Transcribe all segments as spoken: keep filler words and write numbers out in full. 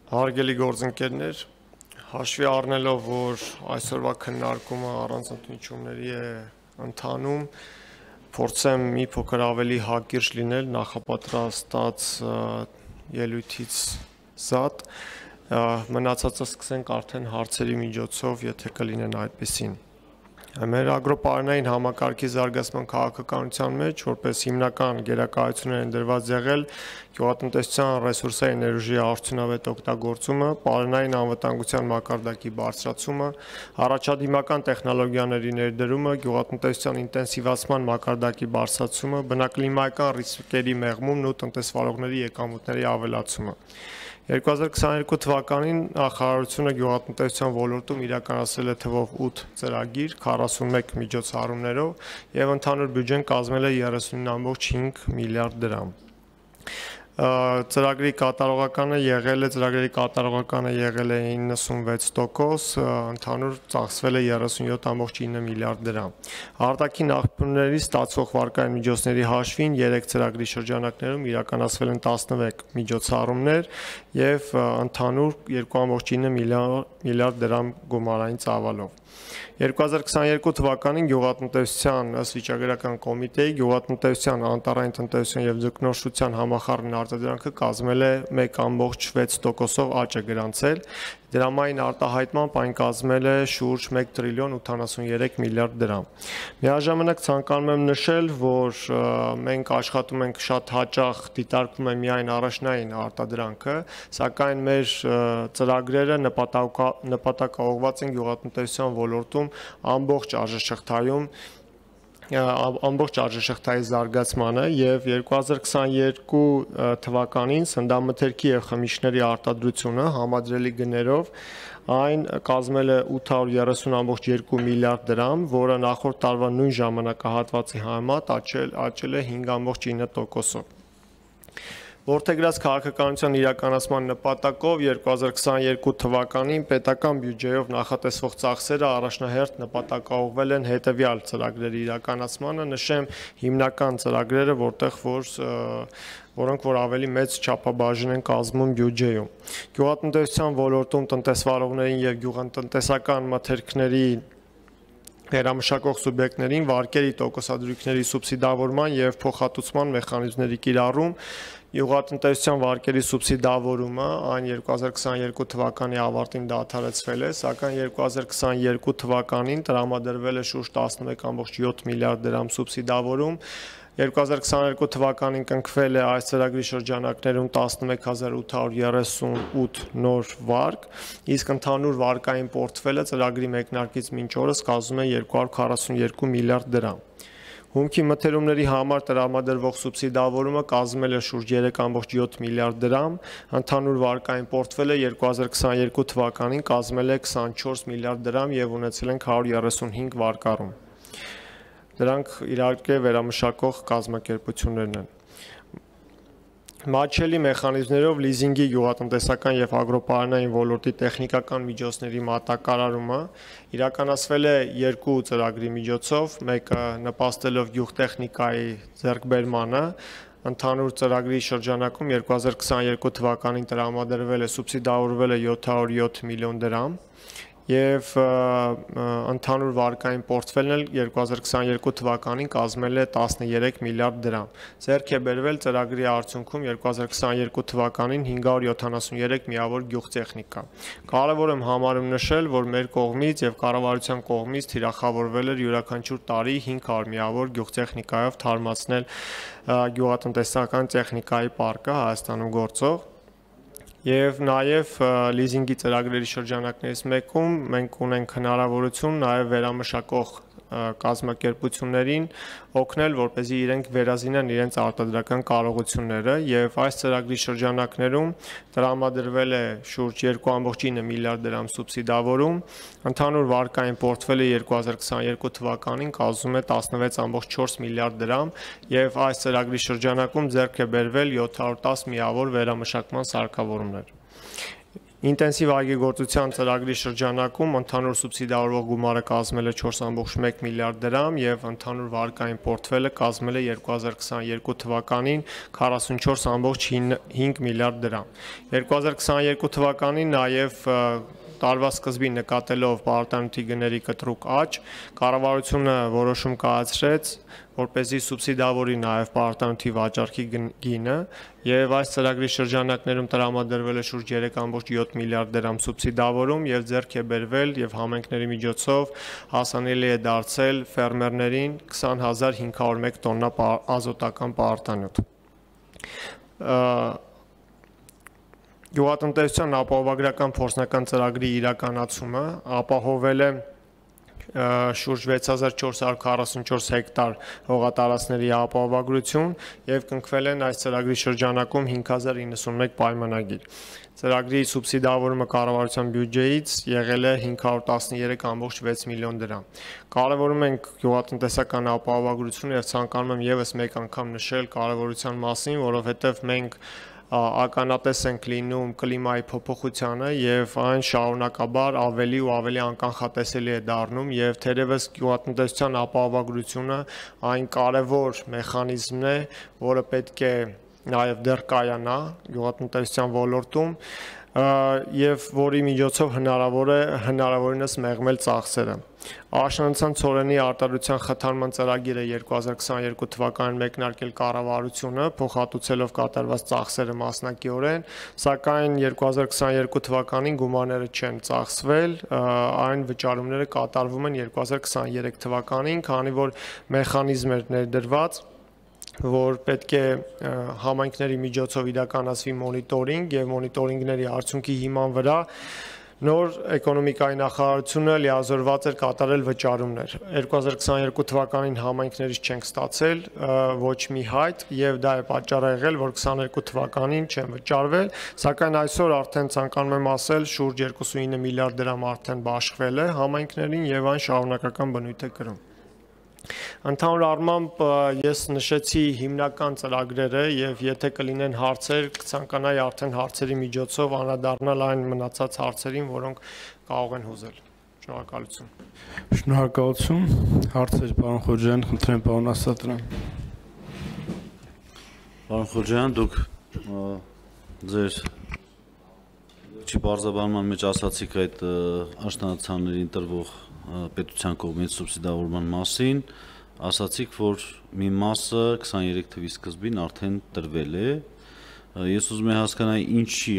Հարգելի գործընկերներ, հաշվի առնելով, որ այսօրվա քննարկումը առանց ընդմիջումների է ընթանում, փորձեմ մի փոքր ավելի հակիրճ լինել նախապատրաստած ելույթից զատ, մնացածը սկսենք արդեն հարցերի միջոցով, եթե կլինեն այդպիսին։ Մեր ագրոպարենային համակարգի զարգացման քաղաքականության մեջ, որպես հիմնական գերակայություններ են դրված եղել գյուղատնտեսության ռեսուրսային ներուժի արդյունավետ օգտագործումը, պարենային անվտանգության մակարդակի բարձրացումը, առաջադիմական տեխնոլոգիաների ներդրումը, գյուղատնտեսության ինտենսիվացման մակարդակի բարձրացումը, բնակլիմայական ռիսկերի մեղմումն ու տնտեսվարողների եկամուտների ավելացումը։ երկու հազար քսաներկու թվականին նախարարությունը գյուղատնտեսության ոլորտում իրականացրել է թվով ութ ծրագիր քառասունմեկ միջոցառումներով եւ ընդհանուր բյուջեն կազմել է երեսունինը կόμμα հինգ միլիարդ դրամ։ Ծրագրի կատարողականը եղել է ծրագրերի կատարողականը եղել է իննսունվեց տոկոս, ընդհանուր ծախսվել է երեսունյոթ կόμμα ինը միլիարդ դրամ։ Արտաքին աղբյուրներից ստացվող վարկային միջոցների հաշվին երեք ծրագրի շրջանակներում իրականացվել են տասնմեկ միջոցառումներ եւ ընդհանուր երկու կόμма ինը միլիարդ դրամ գումարային ծավալով։ երկու հազար քսաներկու թվականին գյուղատնտեսության ըստ վիճակագրական կոմիտեի գյուղատնտեսության անտառային տնտեսության եւ ձկնորսության համախառն արտադրանքը կազմել է մեկ կόμма վեց տոկոսով աճ է գրանցել, դրամային արտահայտմամբ այն կազմել է շուրջ մեկ տրիլիոն ութանասուներեք միլիարդ դրամ։ Միաժամանակ ցանկանում եմ նշել, որ մենք աշխատում ենք շատ հաճախ դիտարկվում է միայն առաջնային արտադրանքը, սակայն մեր ծրագրերը նպատակաուղղված են գյուղատնտեսության ոլորտում ամբողջ արժեշղթայում ամբողջ արժեշղթայի զարգացմանը եւ երկու հազար քսաներկու թվականին սննդամթերքի եւ խմիչքների արտադրությունը համադրելի գներով այն կազմել է ութ հարյուր երեսուն կόμμα երկու միլիարդ դրամ, որը նախորդ տարվա նույն ժամանակահատվածի համեմատ աճել է հինգ կόμма ինը տոկոսով։ Որդեգրած քաղաքականության իրականացման նպատակով երկու հազար քսաներկու թվականին պետական բյուջեով նախատեսվող ծախսերը առաջնահերթ նպատակաուղղվել են հետևյալ ծրագրերի իրականացմանը, նշեմ հիմնական ծրագրերը, որտեղ որ որոնք որ ավելի մեծ չափաբաժին են կազմում բյուջեում։ Գյուղատնտեսության ոլորտում տնտեսվարողներին եւ գյուղատնտեսական մթերքների վերամշակող սուբյեկտներին վարկերի տոկոսադրույքների սուբսիդավորման եւ փոխհատուցման մեխանիզմների կիրառում, գյուղատնտեսության վարկերի սուբսիդավորումը, այն երկու հազար քսաներկու թվականի ավարտին դադարեցվել է, սակայն երկու հազար քսաներկու թվականին տրամադրվել է շուրջ տասնմեկ կόμма յոթ միլիարդ դրամ սուբսիդավորում, երկու հազար քսաներկու թվականին կնքվել է այս ծրագրի շրջանակներում տասնմեկ հազար ութ հարյուր երեսունութ նոր վարկ, իսկ ընդհանուր վարկային պորտֆելը ծրագրի մեկնարկից մինչ օրս կազմում է երկու հարյուր քառասուներկու միլիարդ դրամ։ Հումքի մթերումների համար տրամադրվող սուբսիդավորումը կազմել է շուրջ երեք կόμма յոթ միլիարդ դրամ, ընդհանուր վարկային պորտֆելը երկու հազար քսաներկու թվականին կազմել է քսանչորս միլիարդ դրամ եւ ունեցել ենք հարյուր երեսունհինգ վարկառում։ Դրանք իհարկե վերամշակող կազմակերպություններն են։ Մատչելի մեխանիզմներով լիզինգի գյուղատնտեսական եւ ագրոպարենային ոլորտի տեխնիկական միջոցների մատակարարումը իրականացվել է երկու ծրագրի միջոցով, մեկը նպաստելով գյուղտեխնիկայի ձեռքբերմանը, ընդհանուր ծրագրի շրջանակում երկու հազար քսաներկու թվականին տրամադրվել է սուբսիդավորվել է յոթ հարյուր յոթ միլիոն դրամ եւ ընդհանուր վարկային պորտֆելն էլ երկու հազար քսաներկու թվականին կազմել է տասներեք միլիարդ դրամ։ Ձեռք է բերվել ծրագրի արդյունքում երկու հազար քսաներկու թվականին հինգ հարյուր յոթանասուներեք միավոր գյուղտեխնիկա։ Կարևոր եմ համարում նշել, որ մեր կողմից եւ կառավարության կողմից թիրախավորվել էր յուրաքանչյուր տարի հինգ հարյուր միավոր գյուղտեխնիկայով թարմացնել գյուղատնտեսական տեխնիկայի պարկը Հայաստանում գործող Եվ նաև լիզինգի ծրագրերի շրջանակներից մեկում մենք ունենք հնարավորություն նաև վերամշակող կազմակերպություններին օգնել, որպեսզի իրենք վերազինեն իրենց արտադրական կարողությունները եւ այս ծրագրի շրջանակներում տրամադրվել է շուրջ երկու կόμма ինը միլիարդ դրամ սուբսիդավորում, ընդհանուր վարկային պորտֆելը երկու հազար քսաներկու թվականին կազմում է տասնվեց կόμма չորս միլիարդ դրամ եւ այս ծրագրի շրջանակում ձեռք է բերվել յոթ հարյուր տասը միավոր վերամշակման սարքավորումներ։ Ինտենսիվ այգեգործության ծրագրի շրջանակում ընդհանուր սուբսիդավորվող գումարը կազմել է չորս կόμma մեկ միլիարդ դրամ եւ ընդհանուր վարկային պորտֆելը կազմել է երկու հազար քսաներկու թվականին քառասունչորս կόμma հինգ միլիարդ դրամ։ երկու հազար քսաներկու թվականին նաեւ տարվա սկզբին նկատելով պարտանյութի գների կտրուկ աճ, կառավարությունը որոշում կայացրեց, որպեսզի սուբսիդավորի նաև պարտանյութի վաճառքի գինը, եւ այս ծրագրի շրջանակներում տրամադրվել է շուրջ երեք կόμma յոթ միլիարդ դրամ սուբսիդավորում եւ ձեռք է բերվել եւ համայնքների միջոցով հասանելի է դարձել ֆերմերներին քսան հազար հինգ հարյուր մեկ տոննա ազոտական պարտանյութ։ Գյուղատնտեսության ապահովագրական փորձնական ծրագրի իրականացումը ապահովել է շուրջ վեց հազար չորս հարյուր քառասունչորս հեկտար հողատարածքների ապահովագրություն եւ կնքվել են այս ծրագրի շրջանակում հինգ հազար իննսունմեկ պայմանագիր։ Ծրագրի սուբսիդավորումը կառավարության բյուջեից եղել է հինգ հարյուր տասներեք կόμma վեց միլիոն դրամ։ Կարևորում ենք գյուղատնտեսական ապահովագրությունը եւ ցանկանում եմ եւս մեկ անգամ նշել կարևորության մասին, որովհետեւ մենք ականատես ենք լինում կլիմայի փոփոխությանը եւ այն շարունակաբար ավելի ու ավելի անկանխատեսելի է դառնում եւ թերևս գյուղատնտեսության ապահովագրությունը այն կարևոր մեխանիզմն է, որը պետք է նաեւ դեռ կայանա գյուղատնտեսության ոլորտում եւ որի միջոցով հնարավոր է հնարավորինս մեղմել ծախսերը։ Աշնանացան ցորենի արտադրության խթանման ծրագիրը երկու հազար քսաներկու թվականին մեկնարկել կառավարությունը, փոխհատուցելով կատարված ծախսերը մասնակիորեն, սակայն երկու հազար քսաներկու թվականին գումարները չեն ծախսվել, այն վճարումները կատարվում են երկու հազար քսաներեք թվականին, քանի որ մեխանիզմ էր ներդրված, որ պետք է համայնքների միջոցով իրականացվի մոնիտորինգ եւ մոնիտորինգների արդյունքի հիման վրա նոր էկոնոմիկայի նախարարությունը լիազորված էր կատարել վճարումներ։ երկու հազար քսաներկու թվականին համայնքներից չենք ստացել ոչ մի հայտ եւ դա է պատճառը եղել, որ քսաներկու թվականին չեն վճարվել, սակայն այսօր արդեն ցանկանում եմ ասել շուրջ երկուսունինը միլիարդ դրամ արդեն բաշխվել է համայնքներին եւ այն շարունակական բնույթ է կրում։ Ընդհանուր առմամբ ես նշեցի հիմնական ծրագրերը եւ եթե կլինեն հարցեր, կցանկանայի արդեն հարցերի միջոցով անդրադառնալ այն մնացած հարցերին, որոնք կարող են հուզել։ Շնորհակալություն։ Շնորհակալություն։ Հարցեր, պարոն Խոջյան, խնդրեմ պարոն Ասատրյան։ Պարոն Խոջյան, դուք ձեր չի բարձրաբանման մեջ ասացիք այդ աշնանացաններին տրվող պետության կողմից սուբսիդավորման մասին, ասացիք, որ մի մասը քսաներեք թվականի սկզբին արդեն տրվել է, ես ուզում եմ հասկանալ ինչի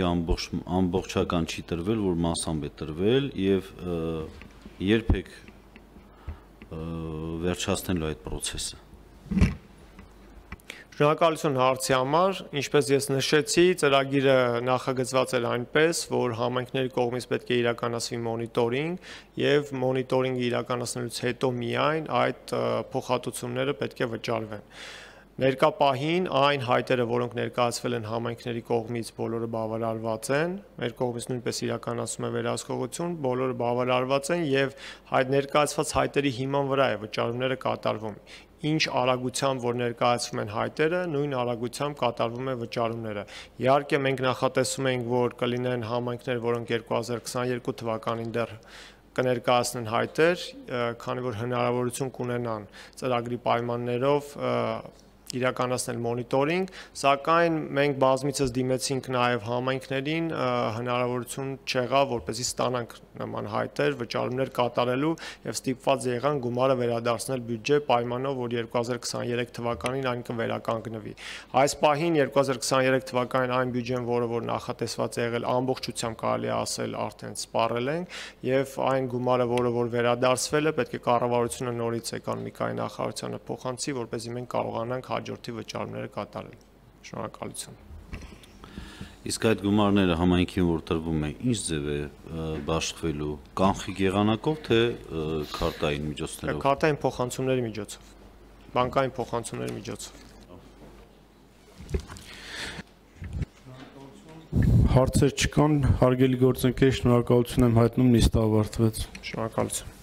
ամբողջական չի տրվել, որ մասամբ է տրվել եւ երբ եք վերջացնելու այդ process-ը։ Շնորհակալություն հարցի համար, ինչպես ես նշեցի, ծրագիրը նախագծված էր այնպես, որ համայնքների կողմից պետք է իրականացվի մոնիտորինգ եւ մոնիտորինգը իրականացնելուց հետո միայն այդ փոխհատուցումները պետք է վճարվեն։ Ներկա պահին այն հայտերը, որոնք ներկայացվել են համայնքների կողմից, բոլորը բավարարված են, մեր կողմից նույնպես իրականացում է վերահսկողություն, բոլորը բավարարված են եւ այդ ներկայացված հայտերի հիման վրա է վճարումները կատարվում։ Ինչ արագությամբ որ ներկայացվում են հայտերը, նույն արագությամբ կատարվում է վճարումները։ Իհարկե մենք նախատեսում ենք, որ կլինեն համայնքներ, որոնք երկու հազար քսաներկու թվականին դեռ կներկայացնեն հայտեր, քանի որ հնարավորություն կունենան ծրագրի պայմաններով իրականացնել մոնիտորինգ, սակայն մենք բազմիցս դիմեցինք նաև համայնքներին, հնարավորություն չեղավ, որպեսզի ստանանք նման հայտեր, վճարումներ կատարելու եւ ստիպված եղան գումարը վերադարձնել բյուջե պայմանով, որ երկու հազար քսաներեք թվականին այն կվերականգնվի։ Այս պահին երկու հազար քսաներեք թվականին այն բյուջեն, որը որ նախատեսված է եղել, ամբողջությամբ կարելի է ասել արդեն սպառել ենք եւ այն գումարը, որը որ վերադարձվել է, պետք է կառավարությունը նորից էկոնոմիկայի նախարարությանը փոխանցի, որպեսզի մենք կարողանանք հաջորդի վճարումները կատարել։ Շնորհակալություն։ Իսկ այդ գումարները համայնքին որ տրվում է, ինչ ձև է բաշխվելու, կանխիկ եղանակով, թե քարտային միջոցներով։ Քարտային փոխանցումների միջոցով, բանկային փոխանցումների միջոցով։ Հարցեր չկան, հարգելի գործընկեր, շնորհակալություն եմ հայտնում, նիստը ավարտվեց։ Շնորհակալություն։